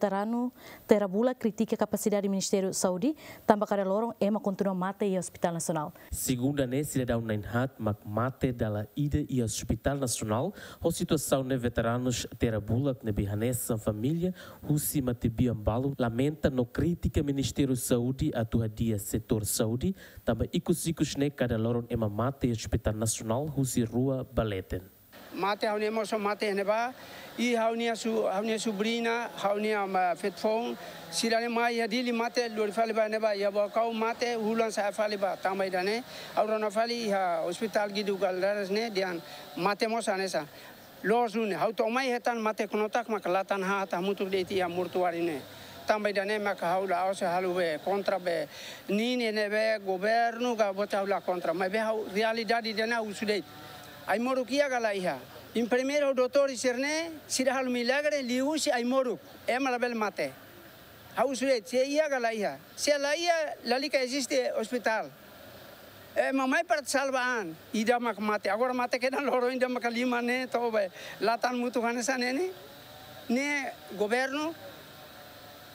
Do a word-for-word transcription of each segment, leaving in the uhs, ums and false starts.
Veteranu Terabula kritika kapasidade Ministériu Saúde, tanba kada loron ema kontinua mate iha Hospital Nasionál. Segunda ne'e, sidadaun na'in-haat mak mate dala ida iha Hospital Nasionál. Ho situasaun ne'e, veteranus Terabula ne'ebé hanesan família husi matebian balun lamenta no kritika Ministériu Saúde atu hadi'a setór saúde, tanba ikus-ikus ne'e kada loron ema mate iha Hospital Nasionál husi rua ba leten. Mate ha'u-nia mós mate iha ne'ebá, i ha'u-nia su-, ha'u-nia subriña, ha'u-nia, ah, feto-foun, sira-ne'e mai iha Dili mate, lori fali ba ne'ebá, iha Baucau mate, hulan sa'e fali ba, tanba ida-ne'e, ha'u rona fali iha Hospital Guido Valadares ne'e, dehan mate mós hanesan. Loos duni, ha'u to'o mai hetan mate knotak maka la tan haat hamutuk de'it iha mortuáriu ne'e. Tanba ida-ne'e maka ha'u la'ós halo be kontra be nini ne'ebé governu ka buat, ha'u la kontra. Maibé ha'u realidade ida-ne'e ha'u husu de'it. Ai-moruk iha ka la iha? Enfermeiru, doutór sira-ne'e, sira halo milagre liuhusi ai-moruk. Ema labele mate. Ha'u husu de'it, se iha ka la iha? Se la iha, lalika eziste ospitál. Ema mai para salva an, ida mak mate. Agora mate kedan loron ida maka lima ne'e, to'o be la tan mutuk hanesan ne'e ne'e. Ne'e governu,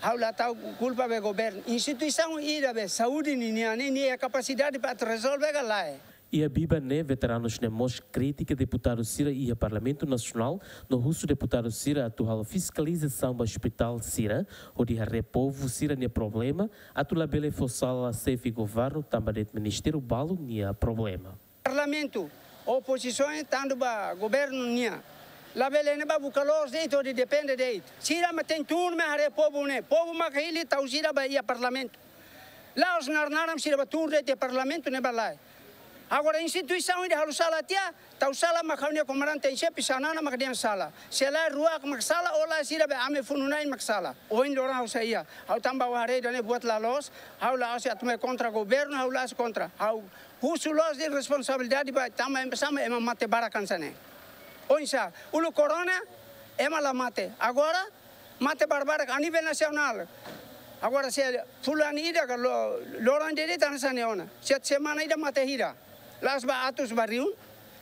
ha'u la tau kulpa be governu. Instituisaun ida be saúde ninian ne'e, nia kapasidade para atu rezolve ka lae? Iha biban ne'e, veteranus ne'e mós kritika deputadu sira iha Parlamentu Nasionál, no husu deputadu sira atu halo fiskalizasaun ba ospitál sira, hodi haree povu sira-nia problema, atu labele fó sala xefe governu tanba de'it ministériu balun nia problema. Parlamentu, opozisaun tanba governu nian. Labele ne'e ba buka loos de'it hodi depende de'it. Sira mak tenke tun mai haree povu ne'e. Povu mak hili tau sira ba iha Parlamentu. La'ós naran-naran sira ba tun de'it iha Parlamentu ne'e ba lae. Agora instituisaun ida halo sala tiha, tau sala mak ha'u-nia komandante en xefe Xanana mak dehan sala. Se lae rua mak sala, ou lae sira be ami funu-na'in mak sala. Ohin loron ha'u sai iha. Ha'u tanba ha'u haree ida-ne'e buat la loos, ha'u la'ós atu mai kontra governu, ha'u la'ós kontra. Ha'u husu loos de'it responsabilidade ba tanba ema, sama ema mate barak hanesan ne'e. Oinsá, uluk korona, ema la mate. Agora, mate barbarak a nivel nasionál. Agora se fulan ida ka lo-, loron ida de'it hanesan ne'e ona. Setiap semana ida mate hira. La'ós ba atus ba rihun,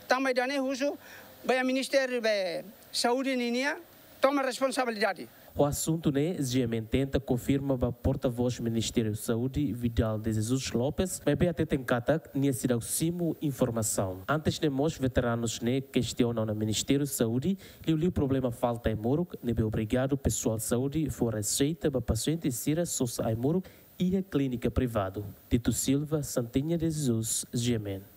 tanba ida-ne'e husu ba iha Ministériu be Saúde ninian toma responsabilidade. Ho asuntu ne'e, GMN tenta konfirma ba portavós Ministériu Saúde, Vidal de Jesus Lopes, maibé hateten katak nia seidauk simu informasaun. Antes ne'e mós veteranus ne'e kestiona ona Ministériu Saúde, liuliu problema falta ai-moruk, ne'ebé obriga pesoál saúde fó reseita ba pasiente sira sosa ai-moruk iha klínika privadu. Tito Silva, Santinha de Jesus, GMN.